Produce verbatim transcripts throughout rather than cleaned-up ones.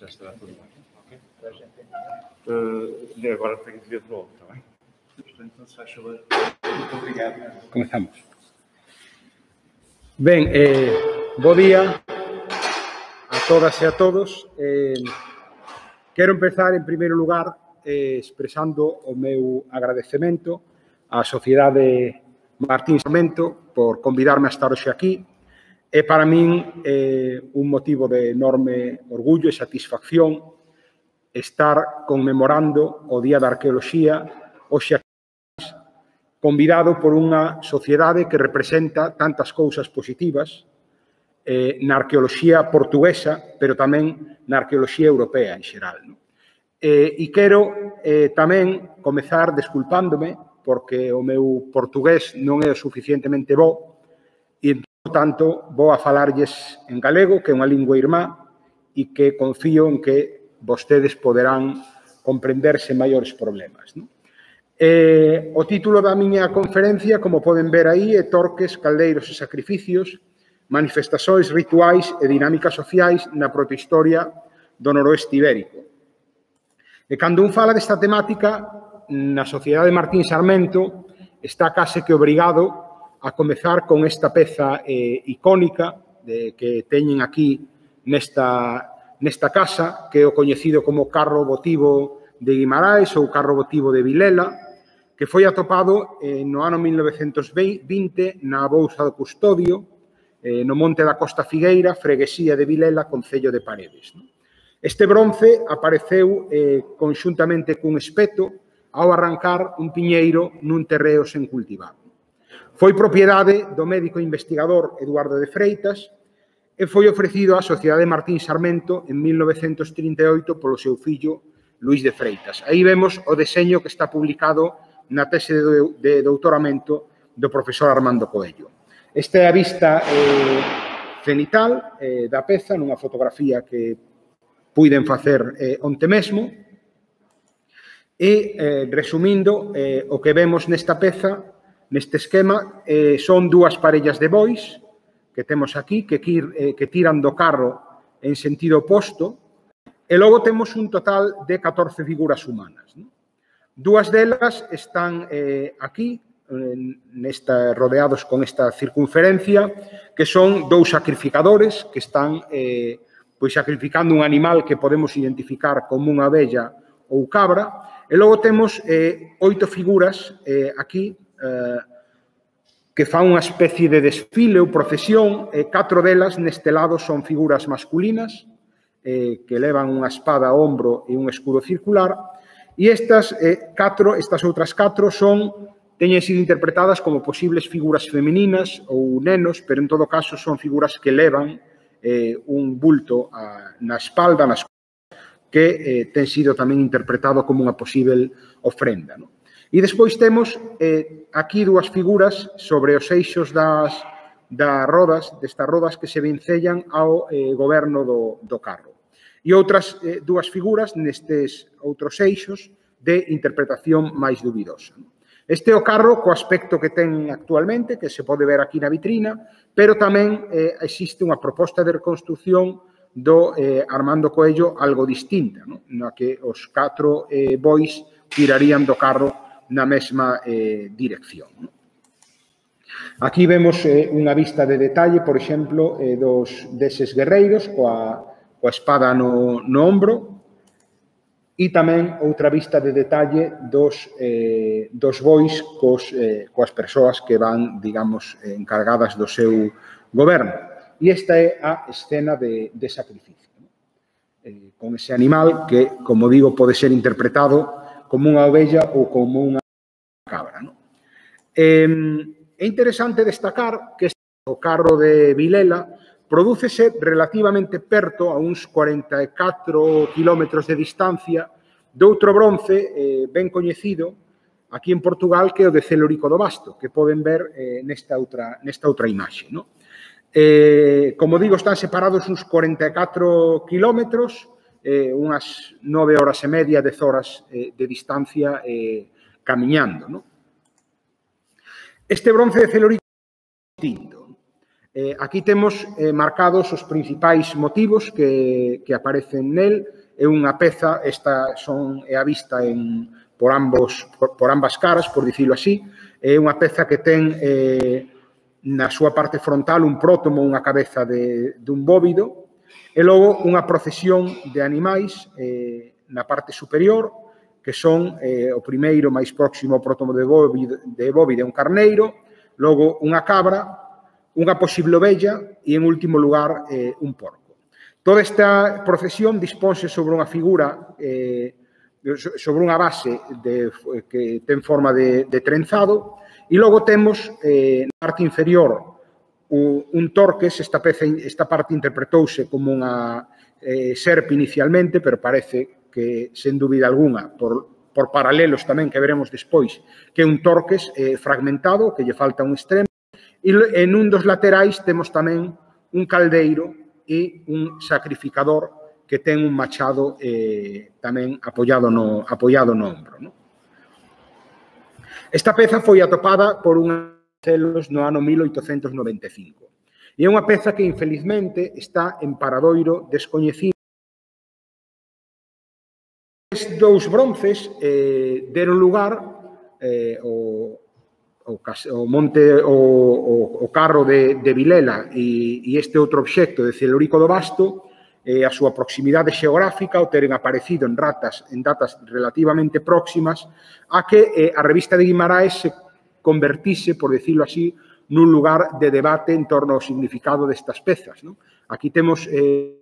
xa estará todo ben. Okay? Uh, agora tenho que ver de novo, está bem? Então, se faz favor. Muito obrigado. Comezamos. Ben, eh, bo día a todas e a todos. Eh, quero empezar, en primeiro lugar, eh, expresando o meu agradecemento á Sociedade Martín Sarmento por convidarme a estar hoxe aquí. É para min eh, un motivo de enorme orgullo e satisfacción estar conmemorando o Día da Arqueoloxía hoxe aquí, convidado por unha sociedade que representa tantas cousas positivas eh, na arqueoloxía portuguesa, pero tamén na arqueoloxía europea en xeral. No? Eh, e quero eh, tamén comezar desculpándome porque o meu portugués non é o suficientemente bo e, por tanto, vou a falarlles en galego, que é unha lingua irmá e que confío en que vostedes poderán comprenderse maiores problemas. No? Eh, o título da miña conferencia, como poden ver aí, é Torques, Caldeiros e Sacrificios, manifestações rituais e dinámicas sociais na protohistoria do noroeste ibérico. E cando un fala desta temática, na Sociedade Martín Sarmento está case que obrigado a comezar con esta peza eh, icónica de, que teñen aquí nesta, nesta casa, que é o coñecido como carro votivo de Guimaraes ou carro votivo de Vilela, que foi atopado eh, no ano mil novecentos vinte na Bouza do Custodio, eh, no monte da Costa Figueira, freguesía de Vilela, concello de Paredes. No? Este bronce apareceu eh, conxuntamente cun espeto ao arrancar un piñeiro nun terreo sen cultivar. Foi propiedade do médico investigador Eduardo de Freitas e foi ofrecido á Sociedade Martín Sarmento en mil novecentos trinta e oito polo seu fillo Luís de Freitas. Aí vemos o deseño que está publicado na tese de, de doutoramento do profesor Armando Coello. Esta é a vista eh, cenital eh, da peza nunha fotografía que puiden facer eh, onte mesmo e, eh, resumindo, eh, o que vemos nesta peza, neste esquema, eh, son dúas parellas de bois que temos aquí, que, eh, que tiran do carro en sentido oposto, e logo temos un total de catorce figuras humanas. ¿No? Dúas delas están eh, aquí, nesta, rodeados con esta circunferencia, que son dous sacrificadores que están eh, pois sacrificando un animal que podemos identificar como unha abella ou cabra, e logo temos eh, oito figuras eh, aquí eh, que fan unha especie de desfile ou procesión, e catro delas neste lado son figuras masculinas, eh, que levan unha espada ao ombro e un escudo circular, e estas eh, catro, estas outras catro son, teñen sido interpretadas como posibles figuras femininas ou nenos, pero en todo caso son figuras que levan eh, un bulto a, na espalda, nas que eh, ten sido tamén interpretado como unha posible ofrenda. No? E despois temos eh, aquí dúas figuras sobre os eixos das, das rodas, destas rodas que se vencellan ao eh, goberno do, do carro. E outras eh, dúas figuras nestes outros eixos de interpretación máis dubidosa. Este é o carro co aspecto que ten actualmente, que se pode ver aquí na vitrina, pero tamén eh, existe unha proposta de reconstrucción do eh, Armando Coello algo distinta, no? Na que os catro eh, bois tirarían do carro na mesma eh, dirección. No? Aquí vemos eh, unha vista de detalle, por exemplo, eh, dos deses guerreiros coa coa espada no, no ombro, e tamén outra vista de detalle dos, eh, dos bois cos, eh, coas persoas que van, digamos, eh, encargadas do seu goberno. E esta é a escena de, de sacrificio. ¿No? Eh, con ese animal que, como digo, pode ser interpretado como unha ovella ou como unha cabra. ¿No? Eh, é interesante destacar que o carro de Vilela prodúcese relativamente perto, a uns cuarenta e catro kilómetros de distancia, de outro bronce eh, ben coñecido aquí en Portugal, que é o de Celorico do Basto, que poden ver eh, nesta, outra, nesta outra imaxe. ¿No? Eh, como digo, están separados uns cuarenta e catro kilómetros, eh, unhas nove horas e media, dez horas eh, de distancia eh, camiñando. ¿No? Este bronce de Celorico é distinto. Eh, aquí temos eh, marcados os principais motivos que, que aparecen nel. É unha peza, esta son, é a vista en, por, ambos, por, por ambas caras, por dicilo así. É unha peza que ten eh, na súa parte frontal un prótomo, unha cabeza de, dun bóvido, e logo unha procesión de animais eh, na parte superior, que son eh, o primeiro máis próximo ao prótomo de bóvide, de bóvide un carneiro, logo unha cabra, unha posible ovella e, en último lugar, eh, un porco. Toda esta procesión disponse sobre unha figura, eh, sobre unha base de, que ten forma de, de trenzado, e logo temos eh, na parte inferior un torques. Esta, peza, esta parte interpretouse como unha eh, serpe inicialmente, pero parece que, sen dúbida alguna, por, por paralelos tamén que veremos despois, que é un torques eh, fragmentado, que lle falta un extremo, e en un dos laterais temos tamén un caldeiro e un sacrificador que ten un machado eh, tamén apoiado no, apoiado no ombro. ¿No? Esta peza foi atopada por unha celos no ano mil oitocentos noventa e cinco. E é unha peza que, infelizmente, está en paradoiro descoñecido. Estes dous bronces eh, deron lugar eh, o, o, o monte, o, o, o carro de, de Vilela e, e este outro obxecto de Celorico do Basto, eh, a súa proximidade xeográfica, o teren aparecido en, ratas, en datas relativamente próximas, a que eh, a revista de Guimaraes se convertise, por decirlo así, nun lugar de debate en torno ao significado destas pezas. ¿No? Aquí temos eh,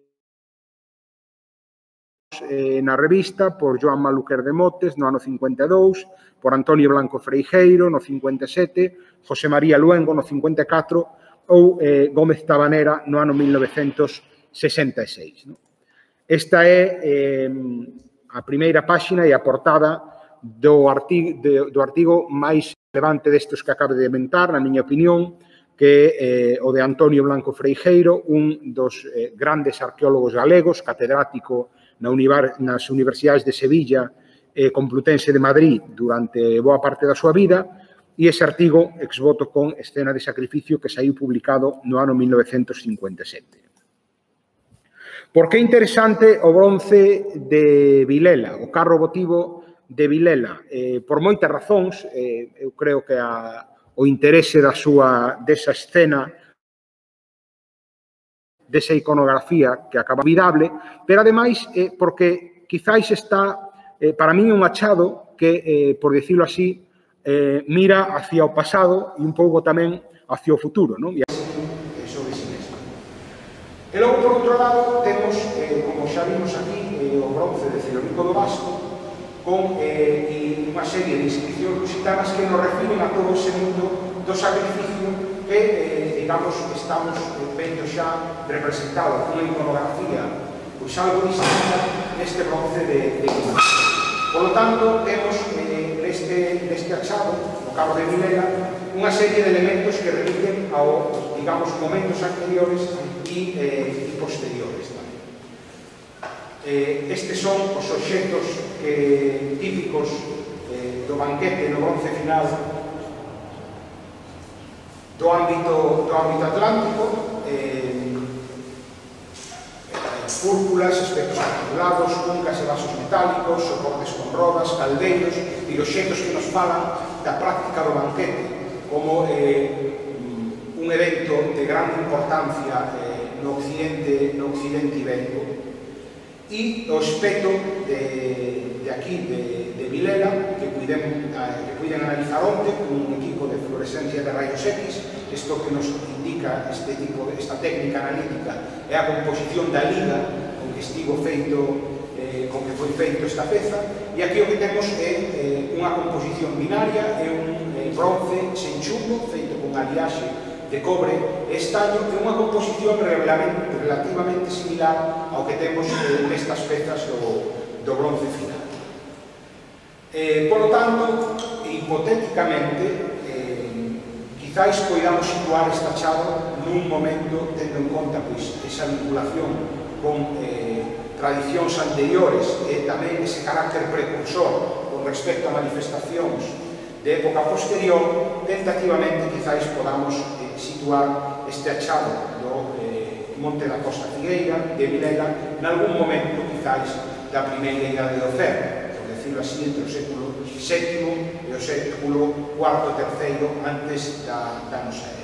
eh, na revista por Joan Maluquer de Motes no ano cincuenta e dous, por Antonio Blanco Freijeiro no cincuenta e sete, José María Luengo no cincuenta e catro ou eh, Gómez Tabanera no ano mil novecentos sesenta e seis. ¿No? Esta é eh, a primeira páxina e a portada do artigo, de, do artigo máis relevante destes que acabo de inventar, na miña opinión, que é eh, o de Antonio Blanco Freijeiro, un dos eh, grandes arqueólogos galegos, catedrático na univar, nas universidades de Sevilla e Complutense de Madrid durante boa parte da súa vida, e ese artigo exvoto con Escena de Sacrificio que saiu publicado no ano mil novecentos cincuenta e sete. Por que é interesante o bronce de Vilela, o carro votivo de Vilela? Eh, por moitas razóns, eh, eu creo que a, o interese da súa, desa escena, desa iconografía que acaba olvidable, pero ademais eh, porque quizáis está, eh, para min, un achado que, eh, por decirlo así, eh, mira hacia o pasado e un pouco tamén hacia o futuro. ¿No? E sobre si mesmo. E logo, por outro lado, temos, eh, como xa vimos aquí, eh, o bronce de Celorico do Basto, con eh, unha serie de inscripcións lusitanas que nos refiren a todo ese mundo do sacrificio que, eh, digamos, estamos vendo xa representado con unha iconografía pois algo distinta neste bronce de, de Guimaraes. Por lo tanto, temos eh, neste, neste achado, no carro de Vilela, unha serie de elementos que remiten ao, digamos, momentos anteriores e, eh, e posteriores tamén. Eh, estes son os obxectos eh, típicos eh, do banquete no bronce final do ámbito, do ámbito atlántico, eh, fúrculas, espectros articulados, cuncas e vasos metálicos, soportes con rodas, caldeiros, e obxectos que nos falan da práctica do banquete como eh, un evento de grande importancia eh, no occidente, no occidente ibérico. E o aspecto de, de aquí, de, de Vilela, que puiden, que puiden analizar onte con un equipo de fluorescencia de rayos X. Isto que nos indica este tipo, esta técnica analítica é a composición da liga con que estivo feito, eh, con que foi feito esta peza, e aquí o que temos é eh, unha composición binaria, é un eh, bronce sen chumbo, feito con aliaxe de cobre e estaño, é unha composición relativamente similar ao que temos eh, nestas pezas do, do bronce final. Eh, por lo tanto, hipotéticamente, quizáis poidamos situar este achado nun momento tendo en conta pois, esa vinculación con eh, tradicións anteriores e tamén ese carácter precursor con respecto a manifestacións de época posterior. Tentativamente, quizáis podamos eh, situar este achado do eh, Monte da Costa Figueira de Vilela nalgún momento, quizáis, da primeira idade do Ferro, por decirlo así, entre o século sétimo e o século cuarto, terceiro antes da, da nosa era.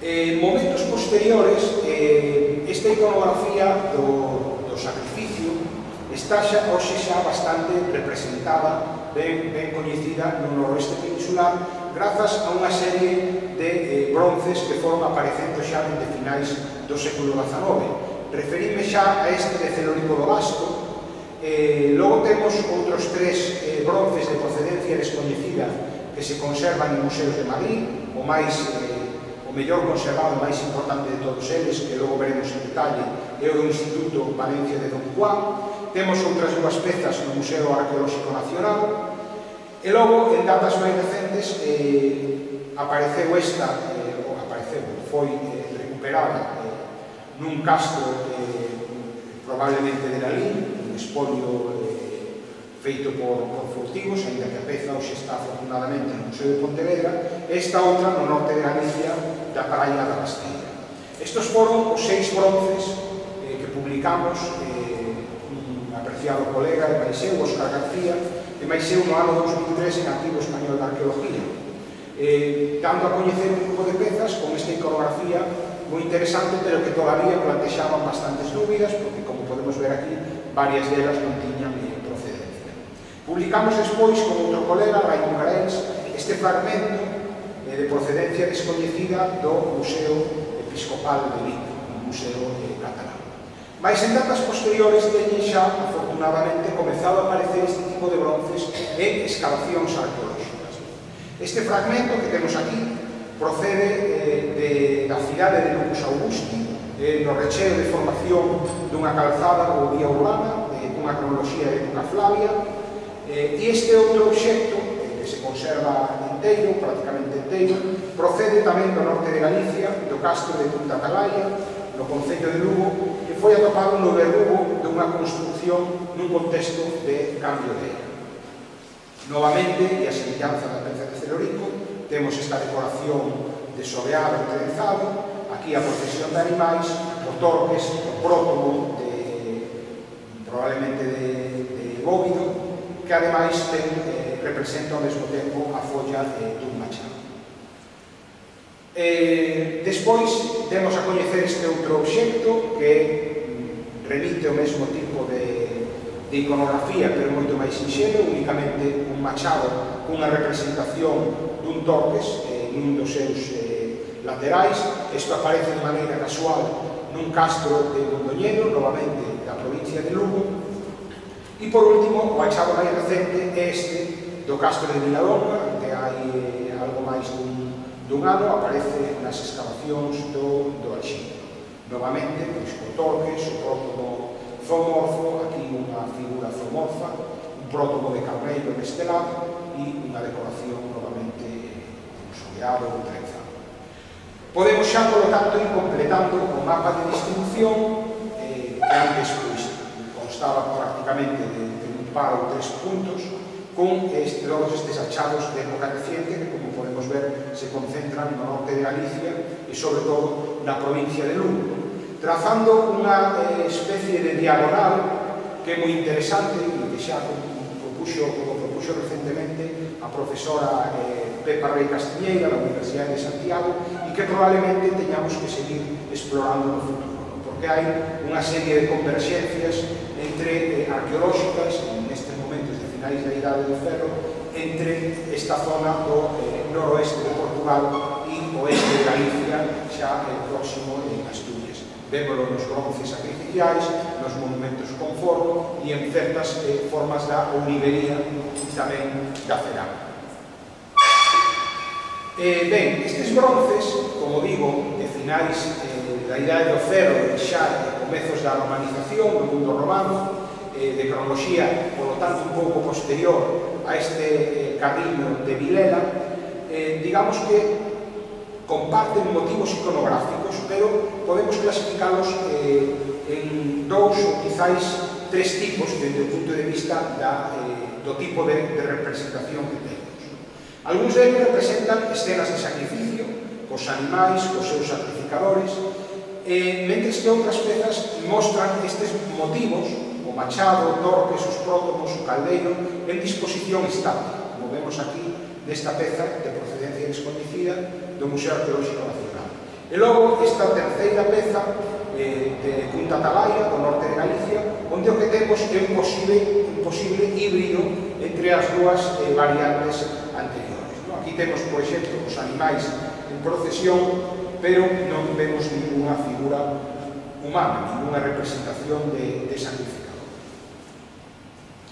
En momentos posteriores, eh, esta iconografía do, do sacrificio está xa, hoxe xa bastante representada, ben, ben coñecida no noroeste peninsular, grazas a unha serie de eh, bronces que foron aparecendo xa desde finais do século dezanove. Referíme xa a este de Celorico do Basto. Eh, logo temos outros tres eh, bronces de procedencia descoñecida que se conservan en museos de Madrid, o máis eh, o mellor conservado, o máis importante de todos eles, que logo veremos en detalle, é o do Instituto Valencia de Don Juan. Temos outras dúas pezas no Museo Arqueolóxico Nacional. E logo, en datas máis recentes, eh, apareceu esta, eh, ou apareceu, foi eh, recuperada eh, nun castro eh, probablemente de Lalín, un espolio eh, feito por, por furtivos, ainda que a peza hoxe está afortunadamente no Museo de Pontevedra, e esta outra no norte de Galicia, da Praia da Basteira. Estos foron os seis bronces eh, que publicamos, eh, un apreciado colega de Maiseu, Óscar García, de Maiseu no ano dos mil tres en Arquivo Español de Arqueología, eh, dando a coñecer un grupo de pezas con esta iconografía moi interesante, pero que todavía plantexaban bastantes dúbidas, porque, como podemos ver aquí, varias delas non tiñan eh, procedencia. Publicamos despois, con outro colega, Raimon Garens, este fragmento eh, de procedencia descoñecida do Museo Episcopal de Vigo, un museo eh, catalán. Mais en datas posteriores teñen xa, afortunadamente, comezado a aparecer este tipo de bronces en excavacións arqueolóxicas. Este fragmento que temos aquí procede eh, de, da cidade de Lucus Augusti, eh, no recheo de formación dunha calzada ou vía urbana, eh, dunha cronoloxía de época Flavia, eh, e este outro obxecto, eh, que se conserva inteiro, prácticamente inteiro, procede tamén do norte de Galicia, do castro de Punta Atalaya, no concello de Lugo, que foi atopado no verrugo dunha construcción nun contexto de cambio de era. Novamente, e a semellanza da peza de Celorico, temos esta decoración de sobeado e trenzado, aquí a procesión de animais, o torques, o prótomo, de, probablemente de, de bóvido, que ademais ten, eh, representa ao mesmo tempo a folla eh, dun machado. Eh, despois demos a coñecer este outro obxecto que remite ao mesmo tipo de, de iconografía, pero moito máis sinxelo, únicamente un machado cunha representación dun torques eh, nun dos seus eh, laterais. Isto aparece de maneira casual nun castro de Mondoñedo, novamente da provincia de Lugo. E por último, o achado máis recente é este do castro de Viladonga, que hai eh, algo máis dun dun ano, aparece nas excavacións do, do Alxino. Novamente, pois, o torques, o prótomo zoomorfo, aquí unha figura zoomorfa, un prótomo de carneiro estelado e unha decoración novamente sobeado ou trenzado. Podemos xa, polo tanto, ir completando o mapa de distribución eh, que antes pois, constaba prácticamente de, de un par ou tres puntos, con este, todos estes achados de época reciente que, como podemos ver, se concentran no norte de Galicia e, sobre todo, na provincia de Lugo, trazando unha eh, especie de diagonal que é moi interesante e que xa propuxo, como propuxo recentemente a profesora eh, Pepa Rey Castiñeira da Universidade de Santiago, e que probablemente teñamos que seguir explorando no futuro, ¿no? Porque hai unha serie de converxencias entre eh, arqueolóxicas en estes momentos de finais da Idade do Ferro entre esta zona do eh, noroeste de Portugal e oeste de Galicia, xa eh, próximo en Asturias. Vémolo nos bronces sacrificiais, nos monumentos con forno e en certas eh, formas da ourivería e tamén da cerámica. Eh, ben, estes bronces, como digo, de finais eh, da Idade do Ferro e xa de comezos da romanización do mundo romano, eh, de cronoloxía, polo tanto, un pouco posterior a este eh, camiño de Vilela, eh, digamos que comparten motivos iconográficos, pero podemos clasificalos eh, en dous ou quizáis tres tipos desde o punto de vista da, eh, do tipo de, de representación que temos. Algúns deles representan escenas de sacrificio, cos animais, cos seus sacrificadores, e, mentres que outras pezas mostran estes motivos, o machado, o torques, os prótomos, o caldeiro, en disposición estática, como vemos aquí nesta peza de procedencia descoñecida do Museo Arqueolóxico Nacional. E logo, esta terceira peza eh, de Punta Talaia, do norte de Galicia, onde o que temos é un posible, un posible híbrido entre as dúas eh, variantes anteriores. No? Aquí temos, por exemplo, os animais en procesión, pero non vemos ninguna figura humana, ninguna representación de, de sacrificador.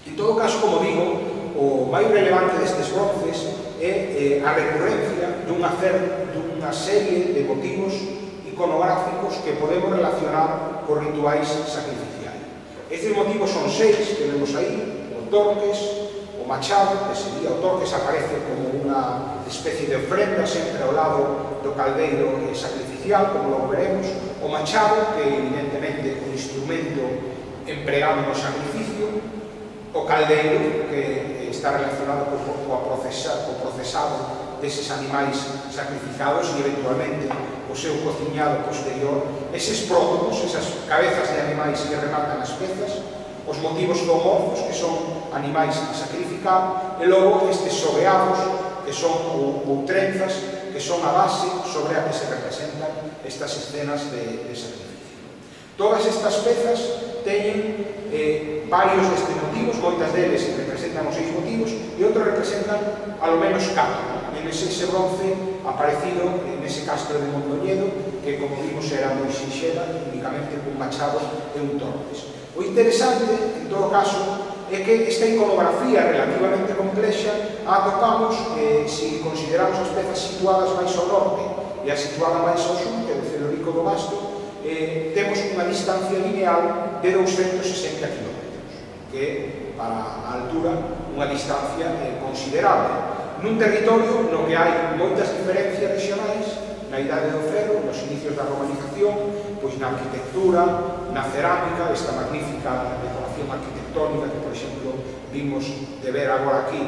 En todo caso, como digo, o máis relevante destes bronces é eh, a recurrencia dunha, dunha serie de motivos iconográficos que podemos relacionar con rituais sacrificiais. Estes motivos son seis que vemos aí: o torques, o machado, que sería o torques, aparece como unha especie de ofrenda sempre ao lado do caldeiro sacrificial, como logo veremos; o machado, que evidentemente é un instrumento empregado no sacrificio; o caldeiro, que está relacionado co, co, procesa, co procesado deses animais sacrificados e eventualmente o seu cociñado posterior; eses prótomos, esas cabezas de animais que rematan as pezas; os motivos zoomorfos, que son animais a sacrificar; e logo estes sobeados, que son ou, ou trenzas, que son a base sobre a que se representan estas escenas de, de sacrificio. Todas estas pezas teñen eh, varios destes motivos, moitas deles representan os seis motivos e outros representan alo menos catro. En ese, ese bronce aparecido en ese castro de Mondoñedo, que, como vimos, era moi sinxela, únicamente con machado e un torques. O interesante, en todo caso, é que esta iconografía relativamente complexa a atopamos eh, se consideramos as pezas situadas máis ao norte e a situada máis ao sur, que é de Celorico do Basto, eh, temos unha distancia lineal de douscentos sesenta kilómetros, que é, para a altura, unha distancia eh, considerable. Nun territorio no que hai moitas diferencias regionais, na Idade do Ferro, nos inicios da romanización, pois na arquitectura, na cerámica, esta magnífica decoración arquitectónica que, por exemplo, vimos de ver agora aquí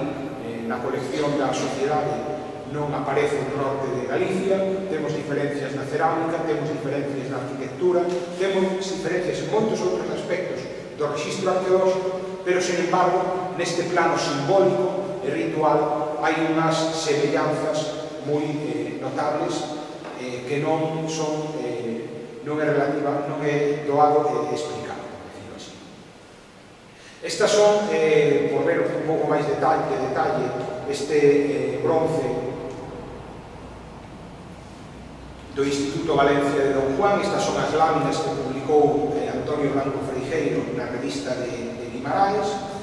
eh, na colección da Sociedade, non aparece no norte de Galicia. Temos diferencias na cerámica, temos diferencias na arquitectura, temos diferencias en moitos outros aspectos do rexistro arqueolóxico, pero, sen embargo, neste plano simbólico e ritual hai unhas semellanzas moi eh, notables eh, que non son eh, non é relativa, non é doado eh, explicar, por decirlo así. Estas son, eh, por ver un pouco máis de detalle, de detalle este eh, bronce do Instituto Valencia de Don Juan. Estas son as láminas que publicou eh, Antonio Blanco Freijeiro na revista de, de Guimaraes,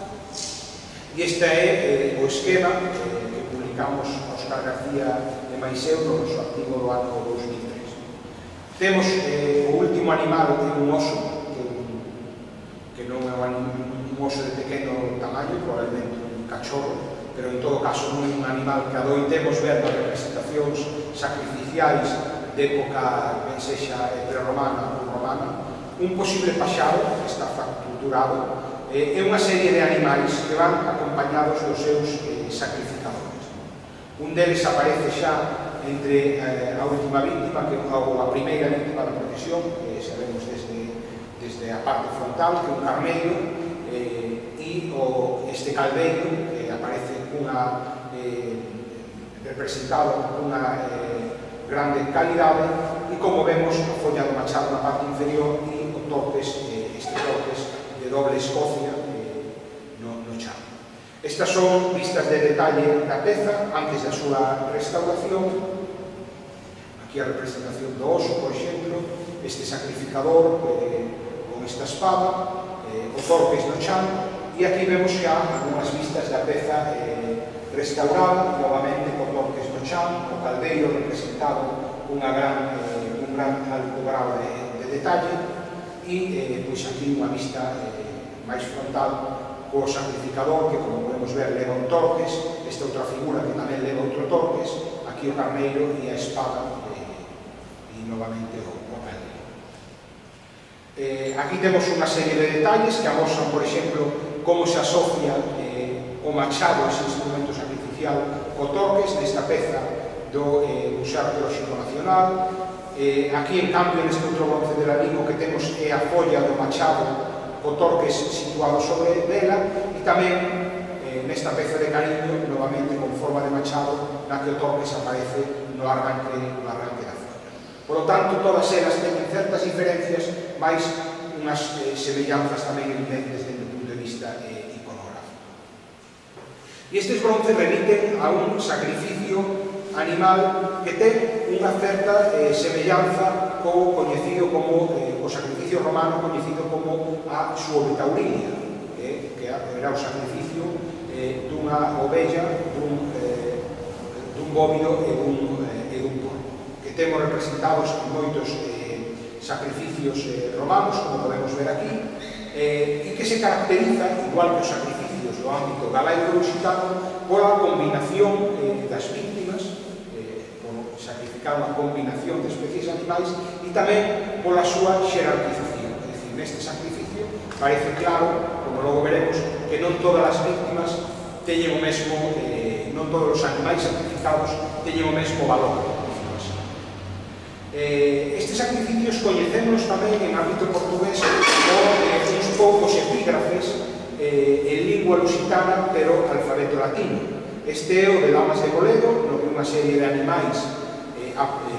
e este é eh, o esquema eh, que publicamos Óscar García de Maiseu no noso artigo do ano dous mil tres. Temos eh, o último animal de un oso, que, que non é un, un oso de pequeno tamaño, probablemente un cachorro, pero en todo caso non é un animal que adoitemos ver nas representacións sacrificiais de época, ben sexa prerromana ou romana. Un posible paxaro que está fracturado, eh, é unha serie de animais que van acompañados dos seus eh, sacrificadores. Un deles aparece xa entre eh, a última víctima, que, ou a primeira víctima da procesión, que sabemos desde, desde a parte frontal, que é un carneiro, eh, e o, este caldeiro, que aparece cunha, eh, representado cunha eh, grande calidade, e como vemos, a folla do machado na parte inferior e o torques, eh, este torques de doble escocia eh, no, no chão. Estas son vistas de detalle da peza antes da súa restauración. Aquí a representación do oso, por exemplo, este sacrificador eh, con esta espada, eh, o torques no chão, e aquí vemos xa algunhas vistas da peza eh, restaurada, novamente con torques no chão, o caldeiro representado unha gran, eh, un gran alto grau de, de detalle, e eh, pois aquí unha vista eh, máis frontal co sacrificador, que, como podemos ver, leva un torques, esta outra figura que tamén leva outro torques, aquí o carneiro e a espada, eh, e novamente o, o caldeiro. Eh, aquí temos unha serie de detalles que amosan, por exemplo, como se asocia eh, o machado, ese instrumento sacrificial, co torques. Nesta peza do eh, Museo Arqueolóxico Nacional. Eh, aquí, en cambio, neste outro bronce de Lalín, o que temos é a folla do machado co torques situado sobre dela, e tamén eh, nesta peza de cariño, novamente con forma de machado, na que o torques aparece no arranque, no arranque da folla. Por lo tanto, todas elas teñen certas diferencias, mais unhas eh, semellanzas tamén evidentes desde o punto de vista eh, iconográfico. E estes bronces remiten a un sacrificio animal que ten unha certa eh, semellanza co coñecido como eh, o sacrificio romano coñecido como a suovitaulinia, eh, que era o sacrificio eh, dunha ovella, dun, eh, dun bóvido e dun, eh, e dun porco, que temos representados en moitos eh, sacrificios eh, romanos, como podemos ver aquí, eh, e que se caracteriza, igual que os sacrificios do ámbito galaico-lusitano, pola combinación eh, das víctimas, sacrificar unha combinación de especies animais, e tamén pola súa xerarquización. É dicir, neste sacrificio parece claro, como logo veremos, que non todas as víctimas teñen o mesmo, eh, non todos os animais sacrificados teñen o mesmo valor. Eh, estes sacrificios coñecemos tamén en ámbito portugués con eh, uns poucos epígrafes eh, en lingua lusitana, pero alfabeto latino. Este é o de Lamas de Boledo, no que unha serie de animais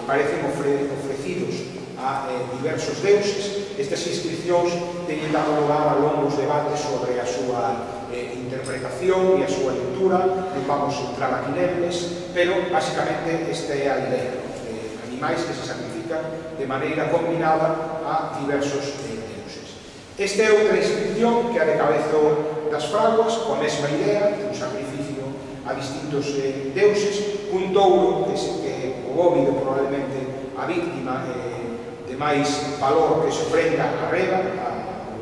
parecen ofrecidos a eh, diversos deuses. Estas inscripcións teñen dado lugar a longos debates sobre a súa eh, interpretación e a súa lectura. Non vamos entrar aquí neles, pero basicamente esta é a idea, eh, animais que se sacrifican de maneira combinada a diversos eh, deuses. Esta é outra inscripción que a de Cabezo das Fraguas, coa mesma idea, un sacrificio a distintos eh, deuses, un touro que, se, que o bóvido probablemente a víctima eh, de máis valor que se ofrenda a Reba, a,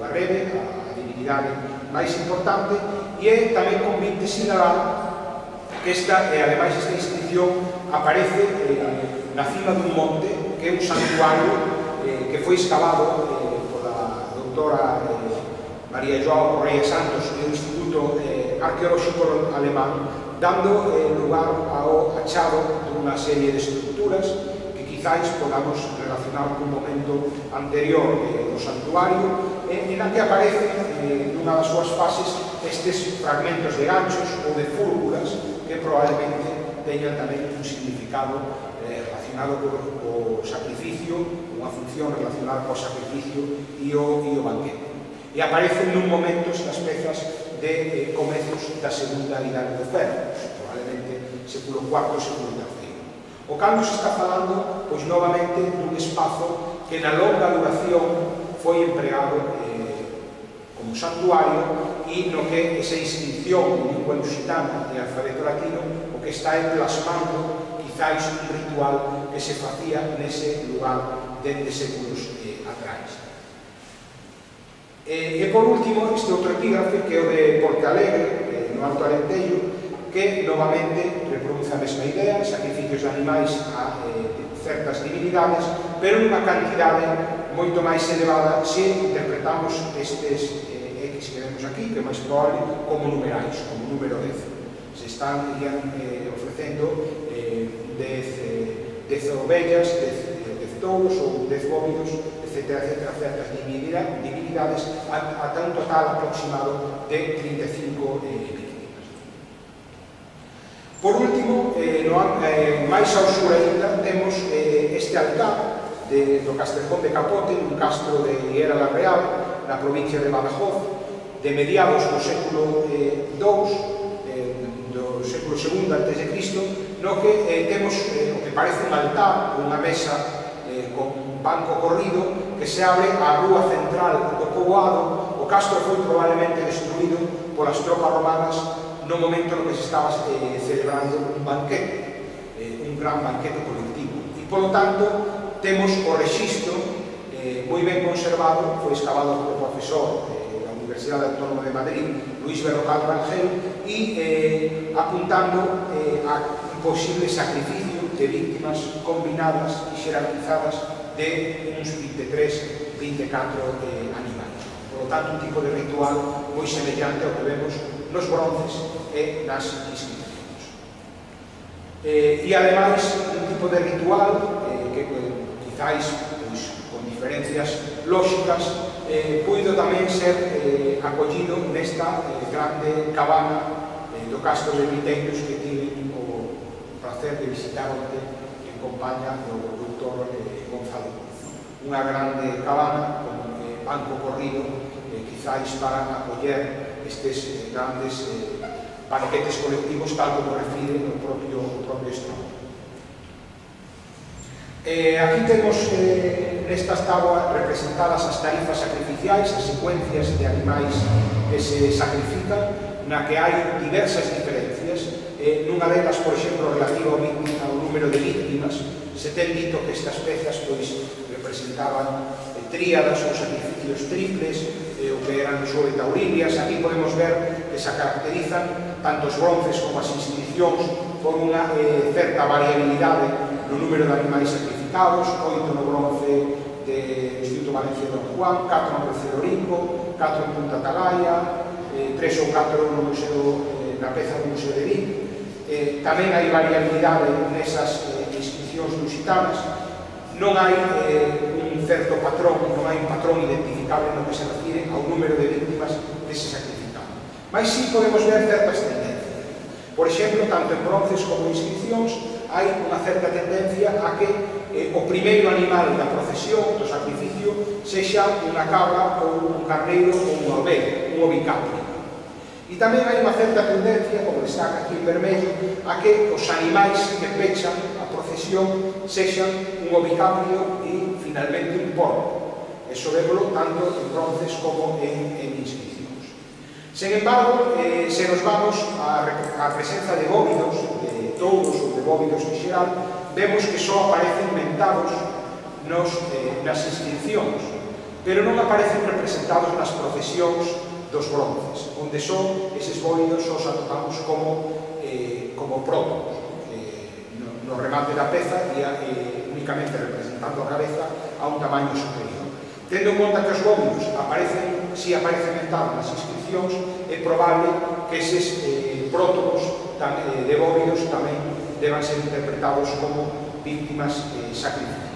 a Rebe, a divinidade máis importante, e é tamén convite sinalar que esta, eh, ademais esta inscripción aparece eh, na cima dun monte que é un santuario eh, que foi excavado eh, pola doutora eh, María Joao Correia Santos do Instituto eh, Arqueolóxico Alemán, dando eh, lugar ao achado dunha serie de estructuras que quizáis podamos relacionar cun momento anterior eh, do santuario, eh, en a que aparecen eh, nunha das súas fases estes fragmentos de ganchos ou de fúrbulas que probablemente teñan tamén un significado eh, relacionado co, co sacrificio, unha función relacionada co sacrificio e o, e o banquete. E aparecen nun momento estas pezas de eh, comezos da segunda idade do ferro, probablemente século cuarto, século terceiro. O cando se está falando, pois novamente, dun espazo que na longa duración foi empregado eh, como santuario, e no que esa inscripción en lingua lusitana e alfabeto latino o que está plasmando quizáis un ritual que se facía nese lugar dende séculos eh, atrás. E, e por último, este outro epígrafe que é o de Porte Alegre, no Alto Alentejo, que novamente reproduce a mesma idea, sacrificios de animais a eh, certas divinidades, pero nunha cantidade moito máis elevada se interpretamos estes eh, X que vemos aquí, que é máis probable, como numerais, como número dez. Se están irían, eh, ofrecendo eh, dez, eh, dez ovellas, dez, dez touros ou dez bóvidos, etcétera, etcétera, certas divinidades, ata un total aproximado de trinta e cinco eh, víctimas. Por último, eh, no, eh, máis ao sur ainda, temos eh, este altar de, do Castrejón de Capote, un castro de Higuera la Real, na provincia de Badajoz, de mediados do século eh, dous, eh, do século segundo antes de Cristo, no que eh, temos eh, o que parece un altar, unha mesa eh, con un banco corrido que se abre á rúa central do poboado. O castro foi probablemente destruído polas tropas romanas no momento no que se estaba eh, celebrando un banquete, eh, un gran banquete colectivo. E, polo tanto, temos o rexistro eh, moi ben conservado, foi excavado polo profesor eh, da Universidade Autónoma de Madrid, Luis Berrocal Rangel, e eh, apuntando eh, a un posible sacrificio de víctimas combinadas e xerarquizadas de uns vinte e tres, vinte e catro eh, animais. Por lo tanto, un tipo de ritual moi semellante ao que vemos nos bronces e nas inscripcións. Eh, e, ademais, un tipo de ritual eh, que, quizáis, pois, con diferencias lóxicas, eh, puido tamén ser eh, acollido nesta eh, grande cabana eh, do Castro de Viteiros que tive o placer de visitar onte en compañía do doutor eh, Gonzalo. Unha grande cabana con eh, banco corrido, eh, quizáis para acoller estes eh, grandes eh, banquetes colectivos, tal como refire o propio, o propio Estado. Eh, aquí temos eh, nestas táboas representadas as tarifas sacrificiais, as secuencias de animais que se sacrifican, na que hai diversas diferencias. Eh, nunha delas, por exemplo, relativa ao, ao número de víctimas, se ten dito que estas pezas pois, representaban eh, tríadas ou sacrificios triples, eh, o que eran sobre taurilias. Aquí podemos ver que se caracterizan tanto os bronces como as inscripcións por unha eh, certa variabilidade no número de animais sacrificados, oito no bronce do Instituto Valenciano de Don Juan, catro no Crucero Olimpo, catro en Punta Atalaya, eh, tres ou catro no museo, eh, na peza do Museo de Vic. Eh, tamén hai variabilidade nesas eh, inscripcións lusitanas. Non hai eh, un certo patrón, non hai un patrón identificable no que se refire ao número de víctimas que se sacrifican. Mas sí podemos ver certas tendencias. Por exemplo, tanto en bronces como en inscripcións, hai unha certa tendencia a que eh, o primeiro animal da procesión, do sacrificio, sexa unha cabra ou un carneiro ou unha oveja, un ovicaprio. E tamén hai unha certa tendencia, como destaca aquí en vermello, a que os animais que pechan a procesión sexan un ovicaprio e, finalmente, un porco. Eso vémolo tanto en bronces como en, en inscripcións. Sen embargo, eh, se nos vamos á presenza de bóvidos, de touros ou de bóvidos en xeral, vemos que só aparecen mentados nos, eh, nas inscripcións, pero non aparecen representados nas procesións dos bronces, onde son eses bóvidos os atopamos como, eh, como prótopos, eh, no, no remate da peza e eh, únicamente representando a cabeza a un tamaño superior. Tendo en conta que os bóvidos aparecen, si aparecen mentados nas inscripcións, é probable que eses eh, prótopos eh, de bóvidos tamén deban ser interpretados como víctimas eh, sacrificiales.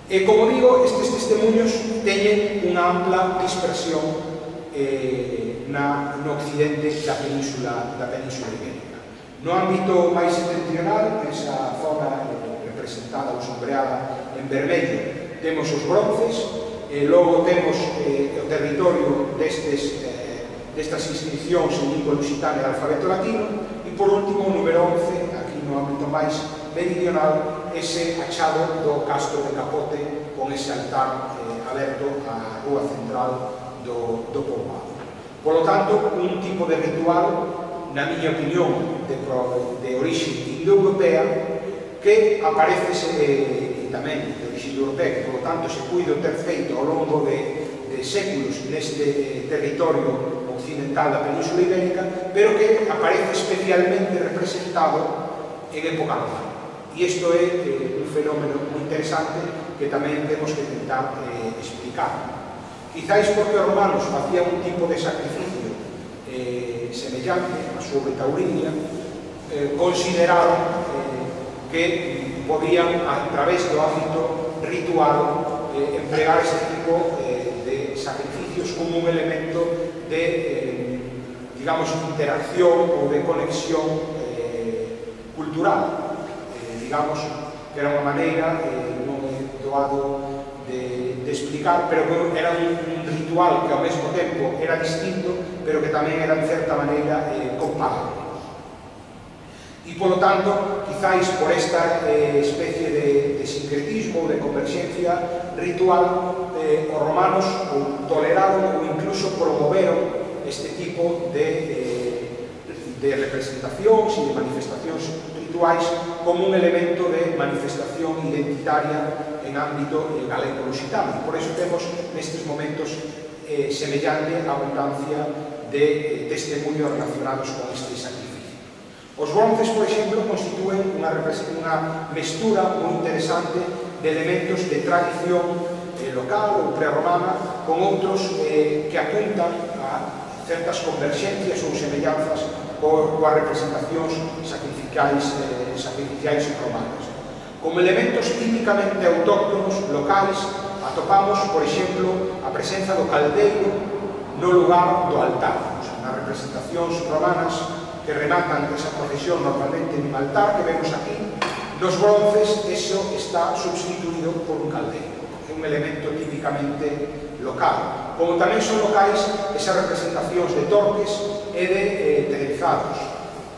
E, como digo, estes testemunhos teñen unha ampla dispersión eh, na, no occidente da península, da península ibérica. No ámbito máis septentrional, esa zona eh, representada ou sombreada en vermello, temos os bronces, e logo temos eh, o territorio destes, eh, destas inscripcións en lingua lusitana e alfabeto latino, e por último o número once, aquí no ámbito máis meridional, ese achado do Castro de Capote con ese altar eh, aberto á rúa central do, do poboado. Por lo tanto, un tipo de ritual, na miña opinión, de, de orixe indoeuropea, que aparece eh, tamén de orixe europea, que, por lo tanto, se puido ter feito ao longo de, de séculos neste eh, territorio occidental da Península Ibérica, pero que aparece especialmente representado en época romana. E isto é eh, un fenómeno moi interesante que tamén temos que tentar eh, explicar. Quizáis porque os romanos facían un tipo de sacrificio eh, semellante a súa taurinia, eh, consideraron eh, que podían, a través do ámbito ritual, eh, emplear ese tipo eh, de sacrificios como un elemento de, eh, digamos, interacción ou de conexión eh, cultural. Eh, digamos que era unha maneira, eh, non é doado de, de explicar, pero que era un, un ritual que ao mesmo tempo era distinto, pero que tamén era, en certa maneira, eh, comparable. E, polo tanto, quizáis por esta eh, especie de, de sincretismo, de converxencia ritual, eh, os romanos ou toleraron ou incluso promoveron este tipo de, eh, de representacións e de manifestacións rituais como un elemento de manifestación identitaria en ámbito eh, galego-lusitano. Por eso temos nestes momentos eh, semellante abundancia de eh, testemunhos relacionados con este sacrificio. Os bronces, por exemplo, constitúen unha, unha mestura moi interesante de elementos de tradición eh, local ou prerromana con outros eh, que apuntan a certas converxencias ou semellanzas coas representacións sacrificiais, eh, sacrificiais romanas. Como elementos típicamente autóctonos locais, atopamos, por exemplo, a presenza do caldeiro no lugar do altar. Nas representacións romanas que rematan esa procesión normalmente en un altar que vemos aquí, nos bronces eso está substituído por un caldeiro. É un elemento típicamente local. Como tamén son locais esas representacións de torques e de eh, televizados,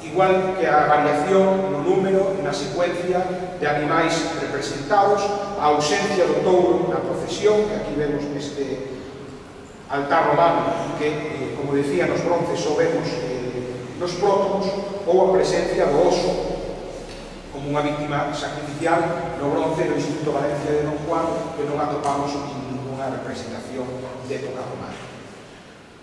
igual que a variación no número e na secuencia de animais representados, a ausencia do touro na procesión, que aquí vemos neste altar romano, que, eh, como decía, nos bronces só vemos eh, nos prótomos, ou a presencia do oso como unha víctima sacrificial no bronce do Instituto Valencia de Don Juan, que non atopamos en ninguna representación de época romana.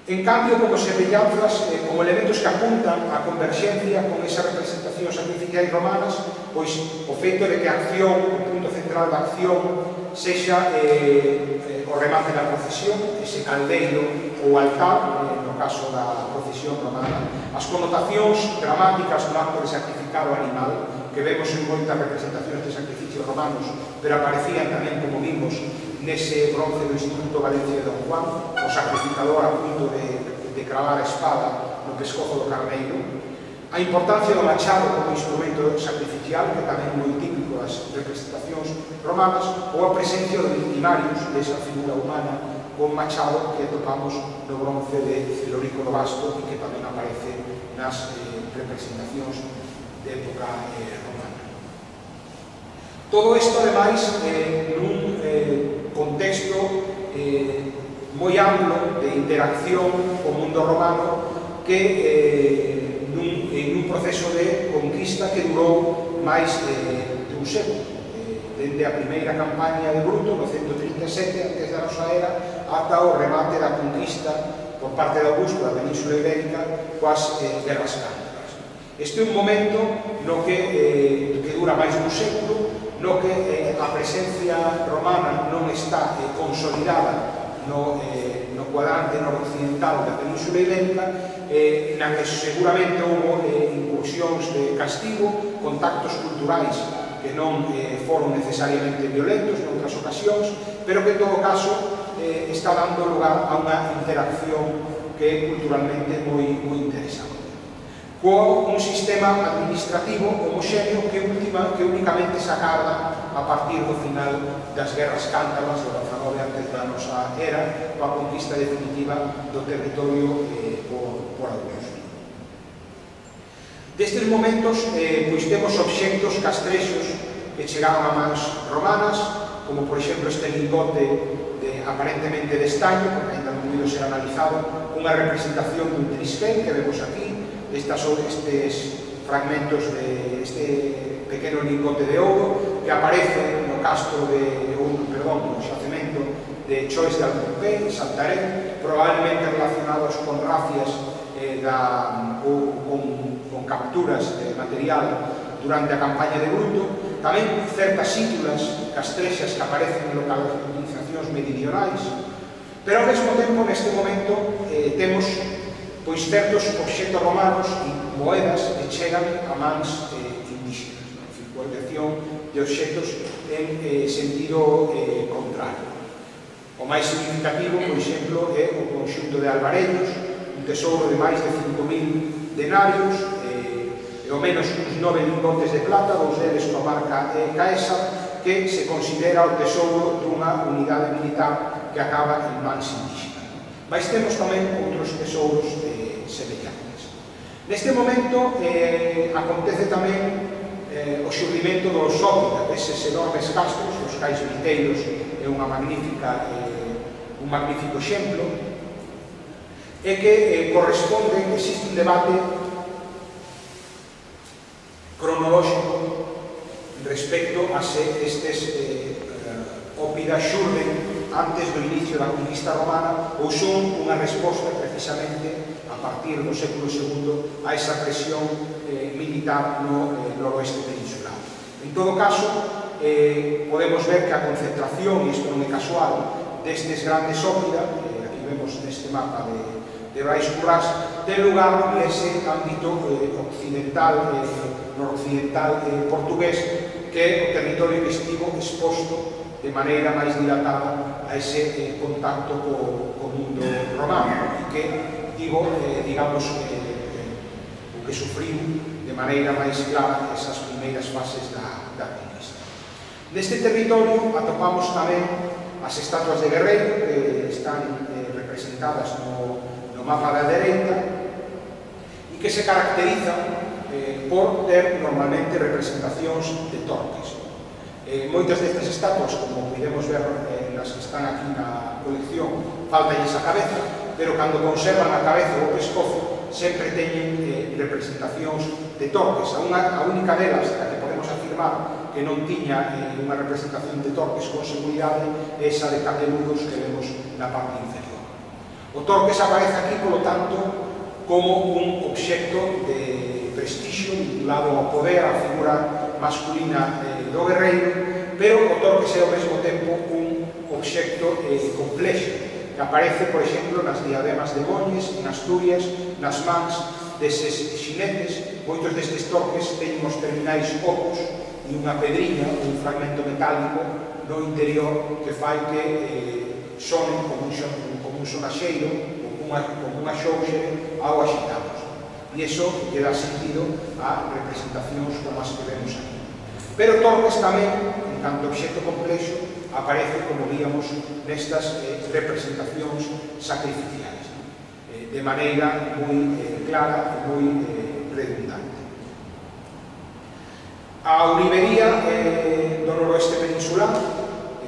En cambio, como semellanzas, eh, como elementos que apuntan á converxencia con esas representacións sacrificiais romanas, pois o feito de que a acción, o punto central da acción, sexa eh, eh, o remate da procesión, ese caldeiro ou altar, eh, no caso da procesión romana, as connotacións dramáticas do acto de sacrificar o animal, que vemos en moitas representacións de sacrificios romanos, pero aparecían tamén, como vimos, nese bronce do Instituto Valencia de Don Juan, o sacrificador a punto de, de cravar a espada no pescozo do carneiro, a importancia do machado como instrumento sacrificial, que tamén é moi típico das representacións romanas, ou a presencia de victimarios desa figura humana con machado que atopamos no bronce de Celorico do Basto e que tamén aparece nas eh, representacións de época eh, romana. Todo isto, ademais, eh, nun eh, contexto eh, moi amplo de interacción co mundo romano que eh, nun, en un proceso de conquista que durou máis eh, de un século, eh, dende a primeira campaña de Bruto no cento trinta e sete antes da nosa era ata o remate da conquista por parte de Augusto da Península Ibérica coas eh, guerras cántabras. Este é un momento no que, eh, que dura máis dun século, no que eh, a presencia romana non está eh, consolidada no, eh, no cuadrante noroccidental da Península Ibérica, eh, na que seguramente houve eh, incursións de castigo, contactos culturais que non eh, foron necesariamente violentos en outras ocasións, pero que en todo caso eh, está dando lugar a unha interacción que é culturalmente moi, moi interesante, con un sistema administrativo homoxéneo que, última, que únicamente se acarda a partir do final das guerras cántabras do dezanove antes da nosa era, coa conquista definitiva do territorio eh, por, por Augusto. Destes momentos, eh, pois temos obxectos castrexos que chegaron a mans romanas, como por exemplo este lingote de, aparentemente de estaño, porque ainda non puido ser analizado, unha representación dun trisquel que vemos aquí. Estas son estes fragmentos de este pequeno lingote de ouro que aparece no castro de, perdón, no xacemento de Chois de Alcorpé, en Santarém, probablemente relacionados con racias eh, da, ou con, con capturas de material durante a campaña de Bruto, tamén certas sítulas castrexas que aparecen en localizacións meridionais, pero ao mesmo tempo, neste momento, eh, temos pois certos obxectos romanos e moedas que chegan a mans eh, indígenas, non? Circulación de obxectos en eh, sentido eh, contrario. O máis significativo, por exemplo, é o conxunto de albarellos, un tesouro de máis de cinco mil denarios, eh, e ao menos uns nove lingotes de plata, dous deles coa marca eh, Caesar, que se considera o tesouro dunha unidade militar que acaba en mans indígenas. Mas temos tamén outros tesouros eh, semellantes. Neste momento eh, acontece tamén eh, o xurdimento do Sópita, deses enormes castros, os cais viteiros, é unha magnífica, eh, un magnífico exemplo, e que eh, corresponde, existe un debate cronolóxico respecto a se estes eh, ópidas xurden antes do inicio da conquista romana ou son unha resposta precisamente a partir do século segundo a esa presión eh, militar no eh, noroeste peninsular. En todo caso, eh, podemos ver que a concentración, e isto non é casual, destes grandes ópida, eh, aquí vemos neste mapa de, de de Brais Currás, ten lugar nese ámbito eh, occidental, eh, noroccidental eh, portugués, que é o territorio que estivo exposto de maneira máis dilatada a ese eh, contacto co, co mundo romano, e que, digo, eh, digamos, eh, eh, o que sufriu de maneira máis clara esas primeiras fases da, da conquista. Neste territorio atopamos tamén as estatuas de guerreiro, que están eh, representadas no, no mapa da dereita, e que se caracterizan eh, por ter normalmente representacións de torques. Eh, moitas destas estatuas, como podemos ver eh, nas que están aquí na colección, faltanlles a cabeza, pero cando conservan a cabeza ou o pescozo sempre teñen eh, representacións de torques. A, unha, a única delas, a que podemos afirmar que non tiña eh, unha representación de torques con seguridade, é esa de capeludos que vemos na parte inferior. O torques aparece aquí, polo tanto, como un obxecto de prestixio vinculado ao poder, á figura masculina eh, do guerreiro, pero o torques é ao mesmo tempo un obxecto eh, complexo, que aparece, por exemplo, nas diademas de Moñes, en Asturias, nas mans deses xinetes. Moitos destes torques teñen os terminais ocos e unha pedriña, un fragmento metálico no interior que fai que eh, sonen como un, como un sonaxeiro ou unha, como unha xouxe ao axitamos. E iso lle dá sentido a representacións como as que vemos aquí. Pero torques tamén, en canto obxecto complexo, aparece, como víamos, nestas eh, representacións sacrificiais, eh, de maneira moi eh, clara e moi eh, redundante. A ourivería eh, do noroeste peninsular,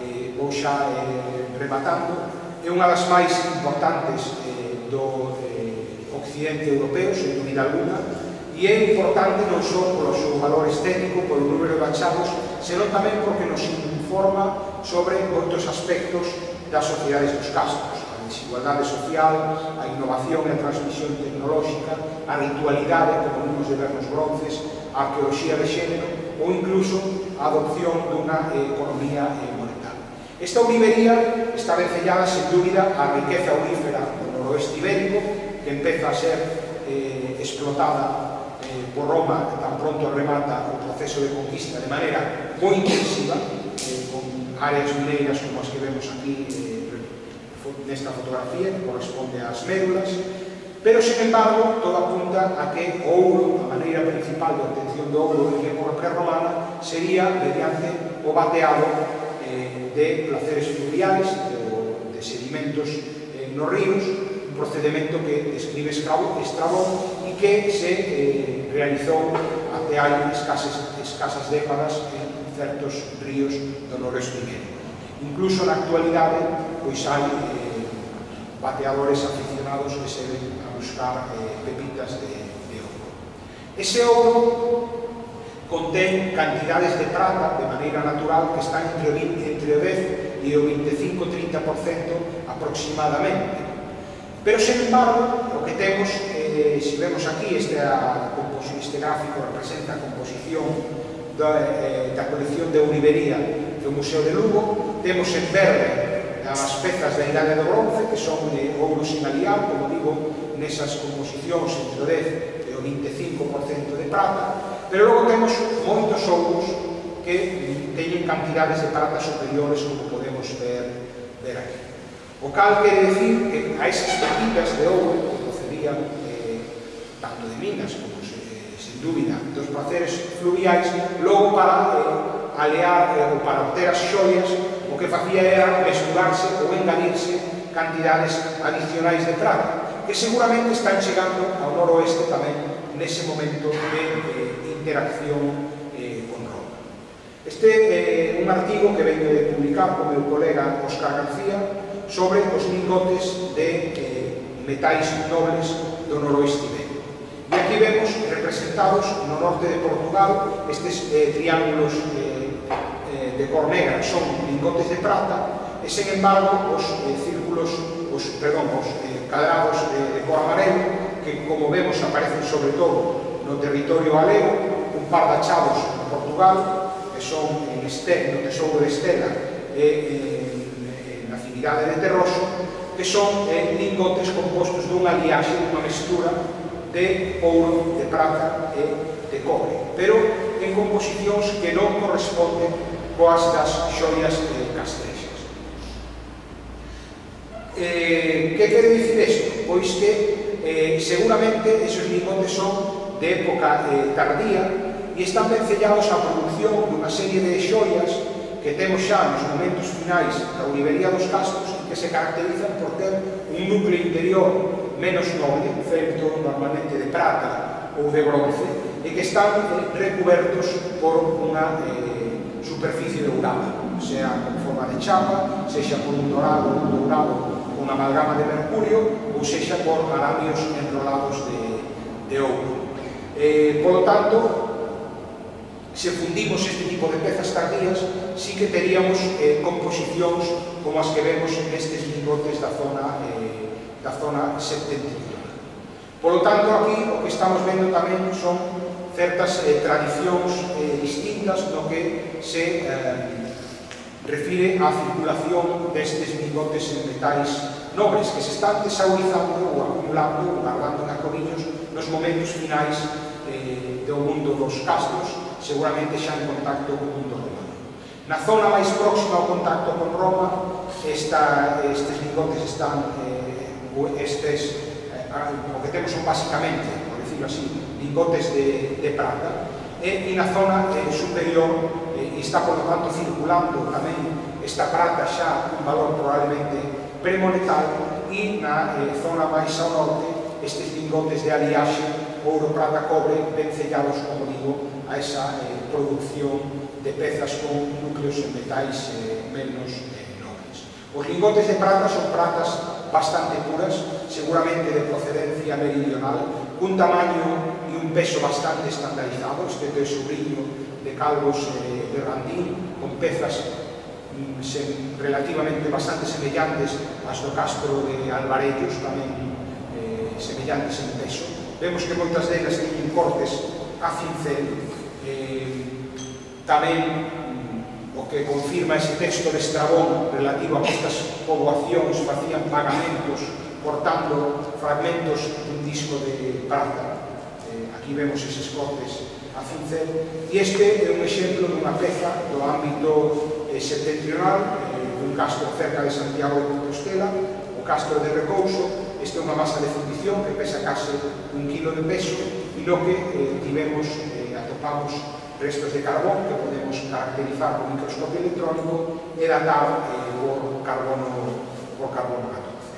eh, vou xa eh, rematando, é unha das máis importantes eh, do eh, occidente europeo, sen dúbida alguna, e é importante non só polo seu valor estético, polo número de achados, senón tamén porque nos informa sobre moitos aspectos das sociedades dos castros, a desigualdade social, a innovación e a transmisión tecnolóxica, a ritualidade, como vimos de ver nos bronces, a arqueoloxía de xénero ou incluso a adopción dunha eh, economía eh, monetaria. Esta ourivería está vencellada, sen dúbida, á riqueza aurífera do noroeste ibérico, que empeza a ser eh, explotada por Roma, tan pronto remata o proceso de conquista de maneira moi intensiva, eh, con áreas mineiras como as que vemos aquí eh, nesta fotografía, que corresponde ás médulas, pero, sen embargo, todo apunta a que o ouro, a maneira principal de obtención do ouro en época prerromana, sería mediante o bateado eh, de placeres fluviais, de, de sedimentos eh, nos ríos, un procedimento que describe Estrabón e que se eh, realizou até hai escasas, escasas décadas en certos ríos do noroeste ibérico. Incluso na actualidade, pois hai eh, bateadores aficionados que se ven a buscar eh, pepitas de, de ouro. Ese ouro contén cantidades de prata de maneira natural que están entre o, vinte, entre o dez e o veinticinco a trinta por cento aproximadamente. Pero, sen embargo, o que temos, eh, se vemos aquí, este, a, este gráfico representa a composición da, eh, da colección de ourivería do Museo de Lugo. Temos en verde as pezas da Idade do Bronce, que son de ouro sin aliar, como digo, nesas composicións entre o dez e o veinticinco por cento de prata, pero logo temos moitos ouros que teñen cantidades de prata superiores, como podemos ver, ver aquí. O cal quere decir que a esas pepitas de ouro que procedían eh, tanto de minas como, eh, sin dúbida, dos placeres fluviais, logo para eh, alear eh, ou para obter as xoias, o que facía era mesturarse ou engadirse cantidades adicionais de prata, que seguramente están chegando ao noroeste tamén nese momento de eh, interacción eh, con Roma. Este é eh, un artigo que venho de publicar con meu colega Óscar García sobre os lingotes de eh, metais nobles do noroeste ibérico. E aquí vemos representados no norte de Portugal estes eh, triángulos eh, eh, de cor negra, son lingotes de prata, e, sen embargo, os eh, círculos, os, perdón, os eh, cadrados de, de cor amarelo, que, como vemos, aparecen sobre todo no territorio galego, un par de achados en Portugal, que son en Estel, no tesouro de Estela, e eh, de Terroso, que son eh, lingotes compostos dunha aliaxe, dunha mestura de ouro, de prata e de cobre, pero en composicións que non corresponden coas das xoias eh, castrexas. Eh, que quere dicir isto? Pois que eh, seguramente esos lingotes son de época eh, tardía e están vencellados á produción dunha serie de xoias que temos xa nos momentos finais da Olivería dos Castros e que se caracterizan por ter un núcleo interior menos noble, feito normalmente de prata ou de bronce, e que están eh, recubertos por unha eh, superficie dourada, sea con forma de chapa, sexa por un dorado, un dourado, unha amalgama de mercurio, ou sexa por aramios enrolados de, de ouro. Eh, por lo tanto, se fundimos este tipo de pezas tardías, sí que teríamos eh, composicións como as que vemos nestes lingotes da zona, eh, da zona septentrional. Por lo tanto, aquí o que estamos vendo tamén son certas eh, tradicións eh, distintas no que se eh, refire á circulación destes lingotes en metais nobres que se están tesaurizando ou acumulando ou guardando en acorrillos nos momentos finais eh, do mundo dos castros, seguramente xa en contacto con o mundo romano. Na zona máis próxima ao contacto con Roma, esta, estes lingotes están, eh, estes, eh, o que temos son basicamente, por decirlo así, lingotes de, de prata, e, e na zona eh, superior eh, está, por lo tanto, circulando tamén esta prata xa un valor probablemente premonetal, e na eh, zona máis ao norte estes lingotes de aliaxe, ouro, prata, cobre, vencellados, como digo, a esa eh, producción de pezas con núcleos en metais eh, menos eh, nobles. Os lingotes de prata son pratas bastante puras, seguramente de procedencia meridional, cun tamaño e un peso bastante estandarizado, este é o sobrinho de Calvos eh, de Randín, con pezas mm, se, relativamente bastante semellantes ás do Castro de Alvarellos, tamén eh, semellantes en peso. Vemos que moitas delas teñen cortes a cincel. Eh, tamén mm, o que confirma ese texto de Estrabón relativo a que estas poboacións facían pagamentos cortando fragmentos dun disco de prata. Eh, aquí vemos eses cortes a cincel, e este é un exemplo dunha peza do ámbito eh, septentrional, eh, dun castro cerca de Santiago de Compostela, o Castro de Recouso. Esta é unha masa de fundición que pesa case un kilo de peso, e no que eh, tivemos, eh, atopamos restos de carbón que podemos caracterizar con microscopio electrónico e datar eh, por carbono, por carbono catorce.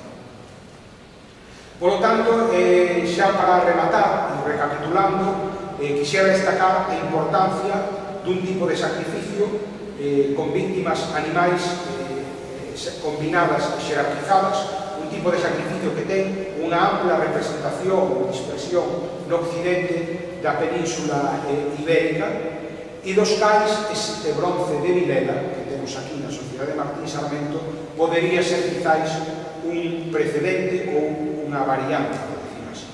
Por lo tanto, eh, xa para rematar e recapitulando, eh, quixera destacar a importancia dun tipo de sacrificio eh, con víctimas animais eh, combinadas e xerarquizadas, un tipo de sacrificio que ten unha ampla representación ou dispersión no occidente da península eh, ibérica, e dos cais este bronce de Vilela que temos aquí na Sociedade de Martín Sarmento podería ser quizáis un precedente ou unha variante, por decir así.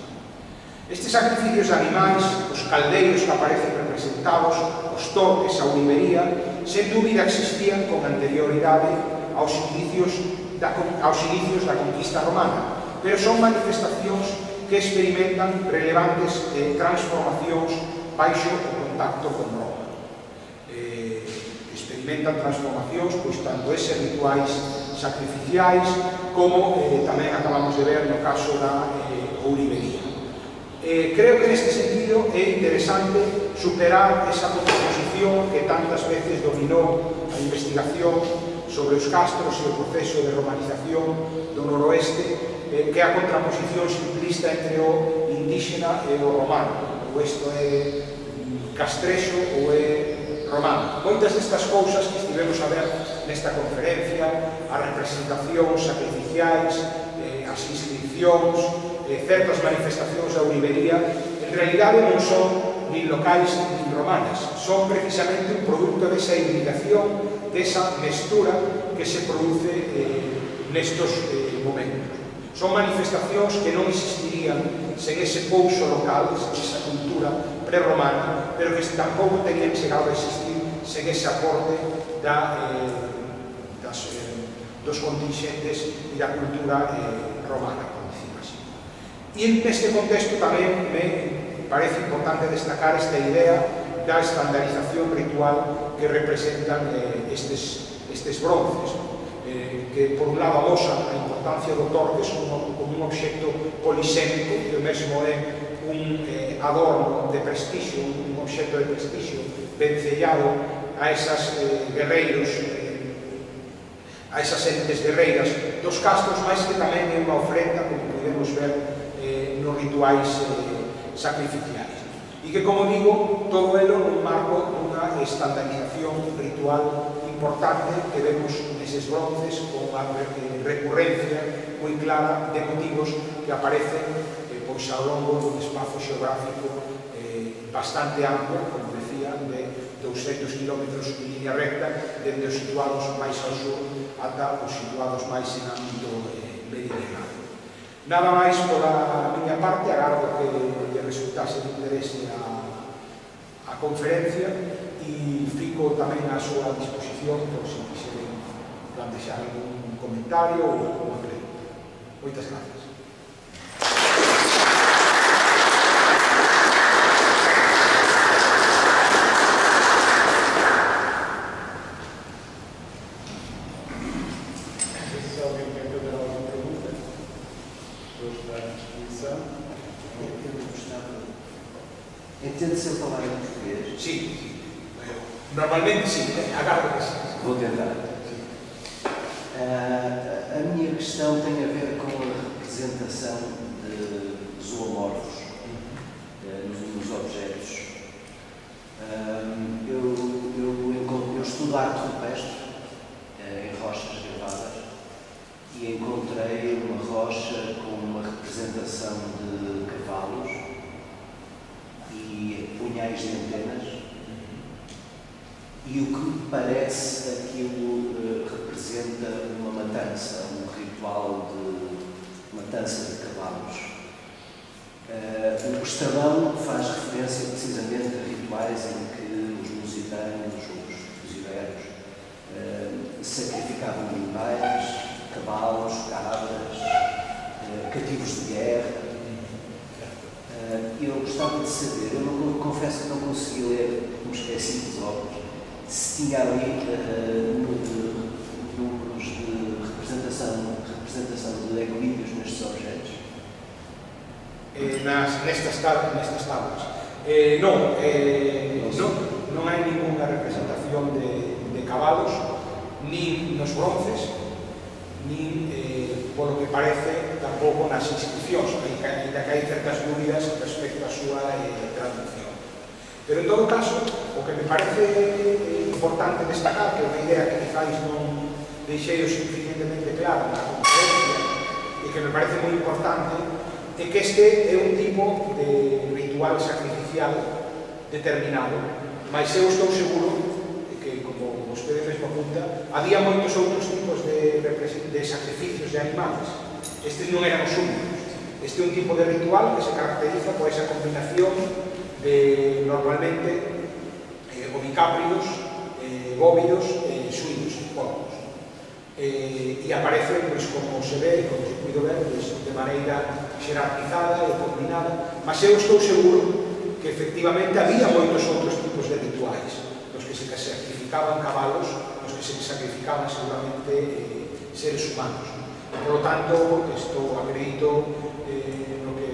Estes sacrificios de animais, os caldeiros que aparecen representados, os torques, a olivería, sen dúbida existían con anterioridade aos inicios da, aos inicios da conquista romana, pero son manifestacións que experimentan relevantes eh, transformacións baixo o contacto con Roma. Eh, experimentan transformacións, pois, tanto eses rituais sacrificiais como eh, tamén acabamos de ver no caso da eh, ourivería. Eh, creo que neste sentido é interesante superar esa contraposición que tantas veces dominou a investigación sobre os castros e o proceso de romanización do noroeste, eh, que é a contraposición simplista entre o indígena e o romano, ou isto é castrexo ou é romano. Moitas destas cousas que estivemos a ver nesta conferencia, as representacións sacrificiais, eh, as inscripcións, eh, certas manifestacións da ourivería, en realidade non son nin locais nin romanas, son precisamente un produto desa hibridación, desa mestura que se produce eh, nestos eh, momentos. Son manifestacións que non existirían sen ese pouso local, sen esa cultura prerromana, pero que tampouco terían chegado a existir sen ese aporte da, eh, das, eh, dos contingentes e da cultura eh, romana, por decirlo así. E neste contexto tamén me parece importante destacar esta idea da estandarización ritual que representan eh, estes, estes bronces, eh, que por un lado amosan a importancia do torque como, como un obxecto polisémico, que o mesmo é un eh, adorno de prestixio, un obxecto de prestixio vencellado a esas eh, guerreiros, eh, a esas entes guerreiras dos castros, máis que tamén é unha ofrenda, como podemos ver eh, nos rituais eh, sacrificiais. E que, como digo, todo elo nun marco dunha estandarización ritual importante que vemos neses bronces con unha recurrencia moi clara de motivos que aparecen eh, pois ao longo dun espazo xeográfico eh, bastante amplo, como decía, de douscentos kilómetros en línea recta, dende os situados máis ao sur ata os situados máis en ámbito eh, meridional. Nada máis pola miña parte, agardo que lle resultase de interese a, a conferencia e fico tamén á súa disposición por se quixeren plantexar algún comentario ou unha pregunta. Moitas gracias. Entende se eu falar em português? Sim, normalmente sim, agarro que sim. Vou tentar. Uh, a minha questão tem a ver com a representação de zoomorfos uh, nos, nos objetos. Uh, eu, eu, eu, eu estudo arte rupestre uh, em rochas gravadas e encontrei uma rocha com uma representação de cavalos e punhais de antenas, e o que me parece aquilo uh, representa uma matança, um ritual de matança de cavalos. Uh, o estalão faz referência precisamente a rituais em que os lusitanos, os, os iberos, uh, sacrificavam animais, cavalos, cabras, uh, cativos de guerra. Eu gostava de saber, eu não, confesso que não consegui ler, me esqueci dos óculos, se tinha ali uh, números de representação, representação de equilíbrios nestes objetos. Eh, nas, nestas, nestas tablas. Eh, non, eh, non, non hai ninguna representación de, de cabalos, nin nos bronces, nin, eh, por lo que parece, tampouco nas inscripcións, ainda que hai certas dúbidas respecto á súa eh, traducción. Pero, en todo caso, o que me parece eh, importante destacar, que é unha idea que quizás non deixei o suficientemente clara na conferencia, e que me parece moi importante, é que este é un tipo de ritual sacrificial determinado, mas eu estou seguro que, como vostede mesmo apunta, había moitos outros tipos de, de sacrificios de animales. Estes non eran os únicos. Este é un tipo de ritual que se caracteriza por esa combinación de, normalmente, eh, ovicápridos, eh, bóvidos e eh, suínos, porcos. Eh, e aparece, pues, como se ve, como se puido ver, pues, de maneira xerarquizada e combinada, mas eu estou seguro que efectivamente había moitos outros tipos de rituais, nos que se sacrificaban cabalos, nos que se sacrificaban seguramente eh, seres humanos. Por lo tanto, estou acredito eh, no que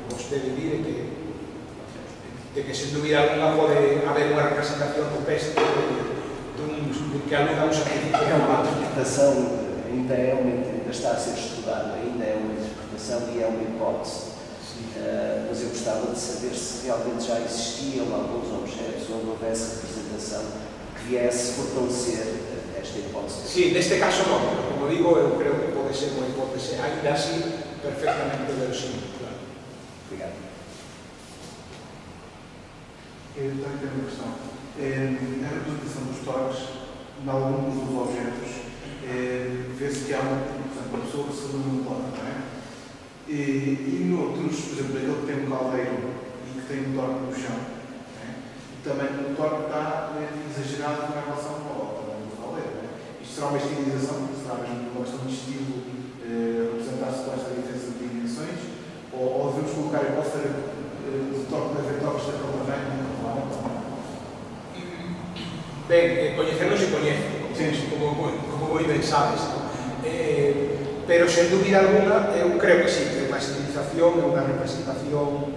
vostede dire que, de que sen dúbida alguna pode haber unha representación rupestre dun, de que aluda a un sacrificio de uma cabalos. interpretação, ainda, é uma, ainda está a ser estudada, ainda é uma interpretação e é uma hipótese. Uh, mas eu gostava de saber se realmente já existiam alguns objetos onde houvesse representação que viesse fortalecer esta hipótese. Sí, neste caso non, pero como digo, eu creo que pode ser unha hipótese ainda así perfectamente verosímil, claro. Obrigado. Eu tenho aqui uma questão. A representação dos torques, em alguns dos objetos, vê-se que há uma, portanto, uma pessoa que se num torque, não é? E, e noutros, por exemplo, aquele que tem um caldeiro e que tem um torque no chão, não é? Também o torque está exagerado na relação ao caldeiro, não é? Isto será uma estilização, será mesmo uma questão de estilo eh, representar-se com esta diferença de dimensões, ou, ou devemos colocar a posta de toque de toques da Calvavém no Calvavém? Ben, coñecernos se coñece, como, como moi ben sabes, eh, pero sen dúbida alguna eu creo que sí, que é unha estilización, é unha representación.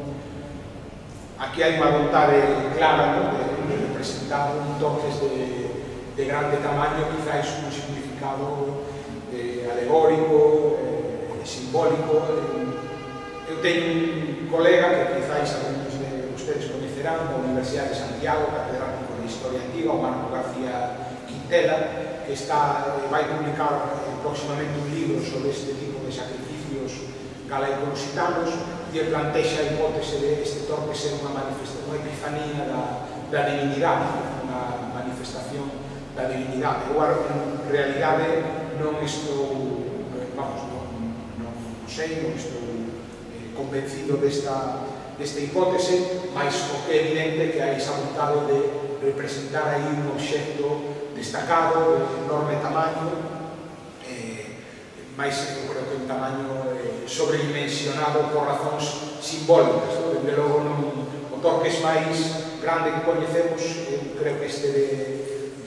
Aquí hai unha vontade clara, ¿no?, de, de representar un toques de, de grande tamaño, quizáis un significado eh, alegórico, eh, simbólico. Eu teño un colega que quizáis algunos de ustedes coñecerán, da Universidade de Santiago, catedrático de Historia Antiga, o Marco García Quintela, que está, vai publicar eh, próximamente un libro sobre este tipo de sacrificios galaico-lusitanos, e plantexa a hipótese de este torque ser unha manifestación, unha epifanía da, da divinidade, unha manifestación da divinidade. Eu, en realidade, non estou, vamos, non, non sei, non estou eh, convencido desta, desta hipótese, mas o que é evidente que hai esa vontade de representar aí un obxecto destacado, de enorme tamaño, eh, mais eu creo que un tamaño eh, sobredimensionado por razóns simbólicas, ¿no? Desde logo non, o toques máis grande que coñecemos, eu creo que este de,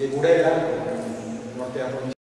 de Burela, no teatro